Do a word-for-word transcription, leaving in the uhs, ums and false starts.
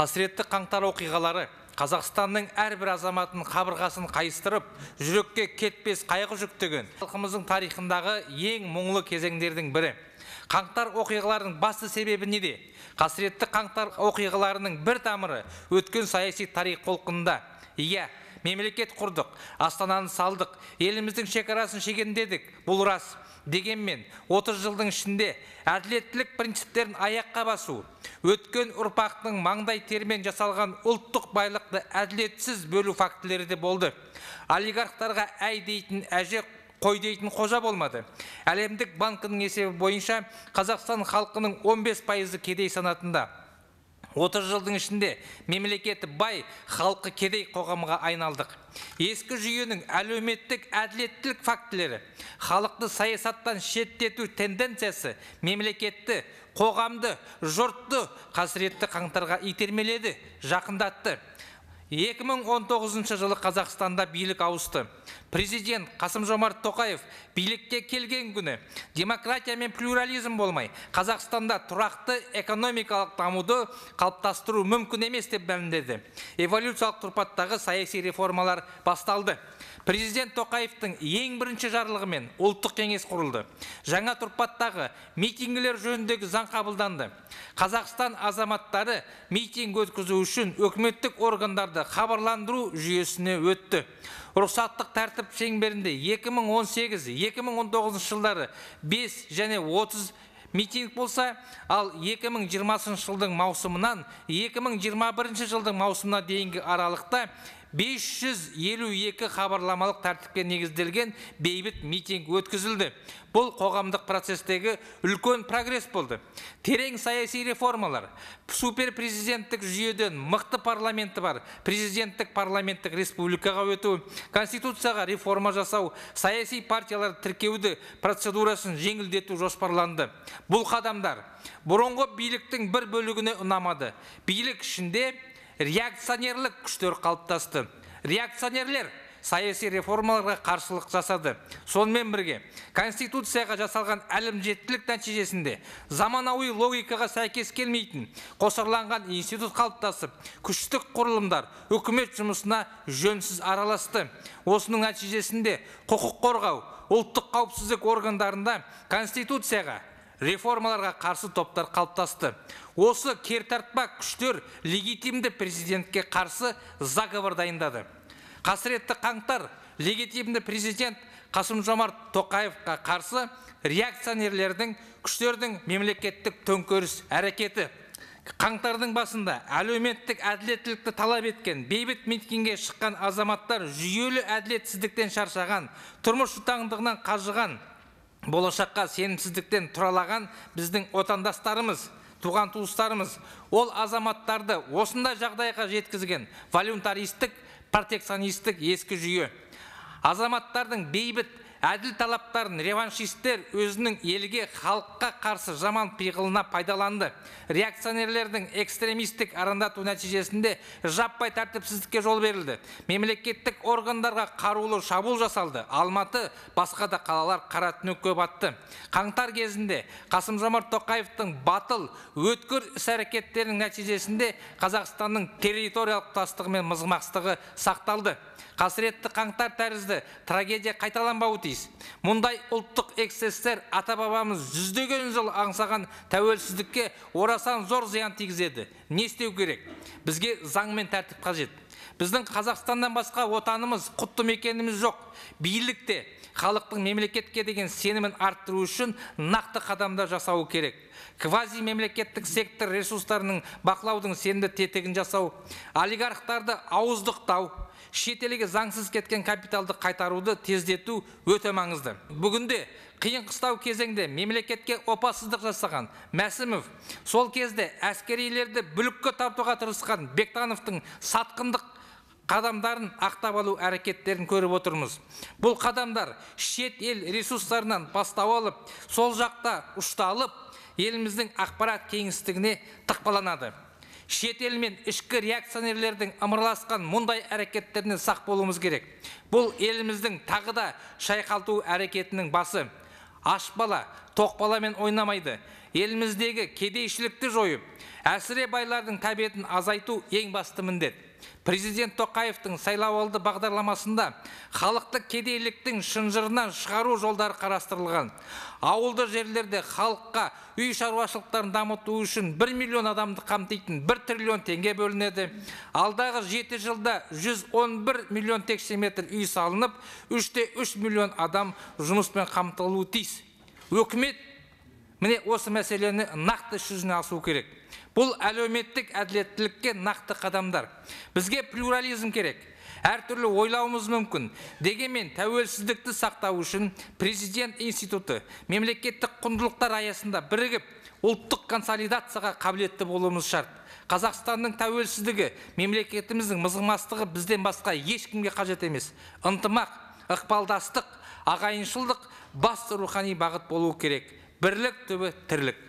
Қасіретті қаңтар оқиғалары Қазақстанның әрбір азаматын қабырғасын қайыстырып, жүрекке кетпес қайғы жүктеген халқымыздың тарихындағы ең мұңлы кезеңдердің бірі. Қаңтар оқиғаларының басты себебі неде? Қасіретті қаңтар оқиғаларының бір тамыры өткен саяси тарих толқынында. Иә, мемлекет құрдық, астананы салдық, еліміздің шекарасын шегендедік, бұл рас. Дегенмен, отыз жылдың ішінде әділеттілік принциптерін аяққа басу, өткен ұрпақтың маңдай термен жасалған ұлттық байлықты әділетсіз бөлу фактілері де болды. Олигархтарға әй дейтін әже, қой дейтін қожа болмады. Әлемдік банкінің есебі бойынша Қазақстан халқының он бес пайызы кедей санатында. отыз жылдың ішінде мемлекеті бай, халқы кедей қоғамға айналдық. Ескі жүйенің әлеуметтік әділеттілік фактілері, халықты саясаттан шеттету тенденциясы мемлекетті, қоғамды, жұртты қасіретті қаңтарға итермеледі, жақындатты. екі мың он тоғызыншы жылы Қазақстанда билік ауысты. Президент Қасым-Жомарт Тоқаев билікке келген күні демократия мен плюрализм болмай, Қазақстанда тұрақты экономикалық дамуды қалыптастыру мүмкін емес деп мәлімдеді. Эволюциялық тұрпаттағы саяси реформалар басталды. Президент Тоқаевтың ең бірінші жарлығымен ұлттық кеңес құрылды. Жаңа тұрпаттағы митингілер жөніндегі заң қабылданды. Қазақстан азаматтары митинг өткізу үшін өкіметтік органдарды хабарландыру жүйесіне өтті. Рұқсаттық тәртіп шеңберінде екі мың он сегіз екі мың он тоғызыншы жылдары бес және отыз митинг болса, ал екі мың жиырмасыншы жылдың маусымынан екі мың жиырма бірінші жылдың маусымына дейінгі аралықта бес жүз елу екі хабарламалық тәртіпке негізделген бейбіт митинг өткізілді. Бұл қоғамдық процестегі үлкен прогресс болды. Терең саяси реформалар, суперпрезиденттік жүйеден мықты парламенті бар, президенттік парламенттік республикаға өту, конституцияға реформа жасау, саяси партиялар тіркеуді процедурасын жеңілдету жоспарланды. Бұл қадамдар бұрынғы биліктің бір бөлігіне ұнамады. Билік ішінде реакционерлік күштер қалыптасты. Реакционерлер саяси реформаларға қарсылық жасады. Сонымен бірге, Конституцияға жасалған әлімжеттілік нәтижесінде заманауи логикаға сәйкес келмейтін қосарланған институт қалыптасып, күштік құрылымдар үкімет жұмысына жөнсіз араласты. Осының нәтижесінде құқық қорғау, ұлттық қауіпсіздік органдарында Конституцияға реформаларға қарсы топтар қалыптасты. Осы кертартпа күштер легитимді президентке қарсы заговор дайындады. Қасіретті қаңтар легитимді президент Қасым-Жомарт Тоқаевқа қарсы реакционерлердің күштердің мемлекеттік төңкеріс әрекеті. Қаңтардың басында әлеуметтік әділеттілікті талап еткен бейбіт митингке шыққан азаматтар жүйелі әділетсіздіктен шаршаған, тұрмыс жұтаңдығынан қажыған, болашаққа сенімсіздіктен тұралаған біздің отандастарымыз, туған туыстарымыз, ол азаматтарды осындай жағдайға жеткізген волюнтаристік, протекционистік ескі жүйе. Азаматтардың бейбіт әділ талаптарын реваншистер өзінің елге, халыққа қарсы жаман пиғылына пайдаланды. Реакционерлердің экстремистік арандату нәтижесінде жаппай тәртіпсіздікке жол берілді. Мемлекеттік органдарға қарулы шабуыл жасалды. Алматы, басқа да қалалар қара түнекке батты. Қаңтар кезінде Қасым-Жомарт Тоқаевтың батыл, өткір іс-әрекеттерінің нәтижесінде Қазақстанның территориялық тұтастығы мен мызғымастығы сақталды. Қасіретті қаңтар тәрізді трагедия қайталанбауы тиіс. Мұндай ұлттық эксцестер ата-бабамыз жүздеген жыл аңсаған тәуелсіздікке орасан зор зиян тигізеді. Не істеу керек? Бізге заң мен тәртіп қажет. Біздің Қазақстаннан басқа отанымыз, құтты мекеніміз жоқ. Билікте халықтың мемлекетке деген сенімін арттыру үшін нақты қадамдар жасауы керек. Квази мемлекеттік сектор ресурстарының бақылаудың сенімді тетігін жасау, олигархтарды ауыздықтау, шетелге заңсыз кеткен капиталды қайтаруды тездету өте маңызды. Бүгінде қиын қыстау кезеңде мемлекетке опасыздық жасаған Мәсімов, сол кезде әскерилерді бүлікке тартуға тырысқан Бектановтың сатқындық қадамдарын ақтап алу әрекеттерін көріп отырмыз. Бұл қадамдар шет ел ресурстарынан бастау алып, сол жақта ұшталып, еліміздің ақпарат кеңістігіне тықпаланады. Шет ел мен ішкі реакционерлердің ымыраласқан мұндай әрекеттеріне сақ болуымыз керек. Бұл еліміздің тағы да шайқалту әрекетінің басы. аш бала, тоқ баламен ойнамайды. Еліміздегі кедейшілікті жойып, әсіре байлардың тәбетін азайту ең басты міндет. Президент Тоқаевтың сайлауалды бағдарламасында халықты кедейліктің шынжырынан шығару жолдары қарастырылған. Ауылды жерлерде халыққа үй шаруашылықтарын дамыту үшін бір миллион адамды қамтитын бір триллион теңге бөлінеді. Алдағы жеті жылда жүз он бір миллион текше метр үй салынып, үш те үш миллион адам жұмыспен қамтылуы тиіс. Өкімет міне осы мәселені нақты іс жүзіне асыру керек. Бұл әлеуметтік әділеттілікке нақты қадамдар. Бізге плюрализм керек. Әртүрлі ойлауымыз мүмкін. Дегенмен тәуелсіздікті сақтау үшін президент институты мемлекеттік құндылықтар аясында бірігіп, ұлттық консолидацияға қабілетті болуымыз шарт. Қазақстанның тәуелсіздігі, мемлекетіміздің мызғымастығы бізден басқа ешкімге қажет емес. Ынтымақ, ықпалдастық, ағайыншылдық басты рухани бағыт болуы керек. Бірлік түбі тірлік.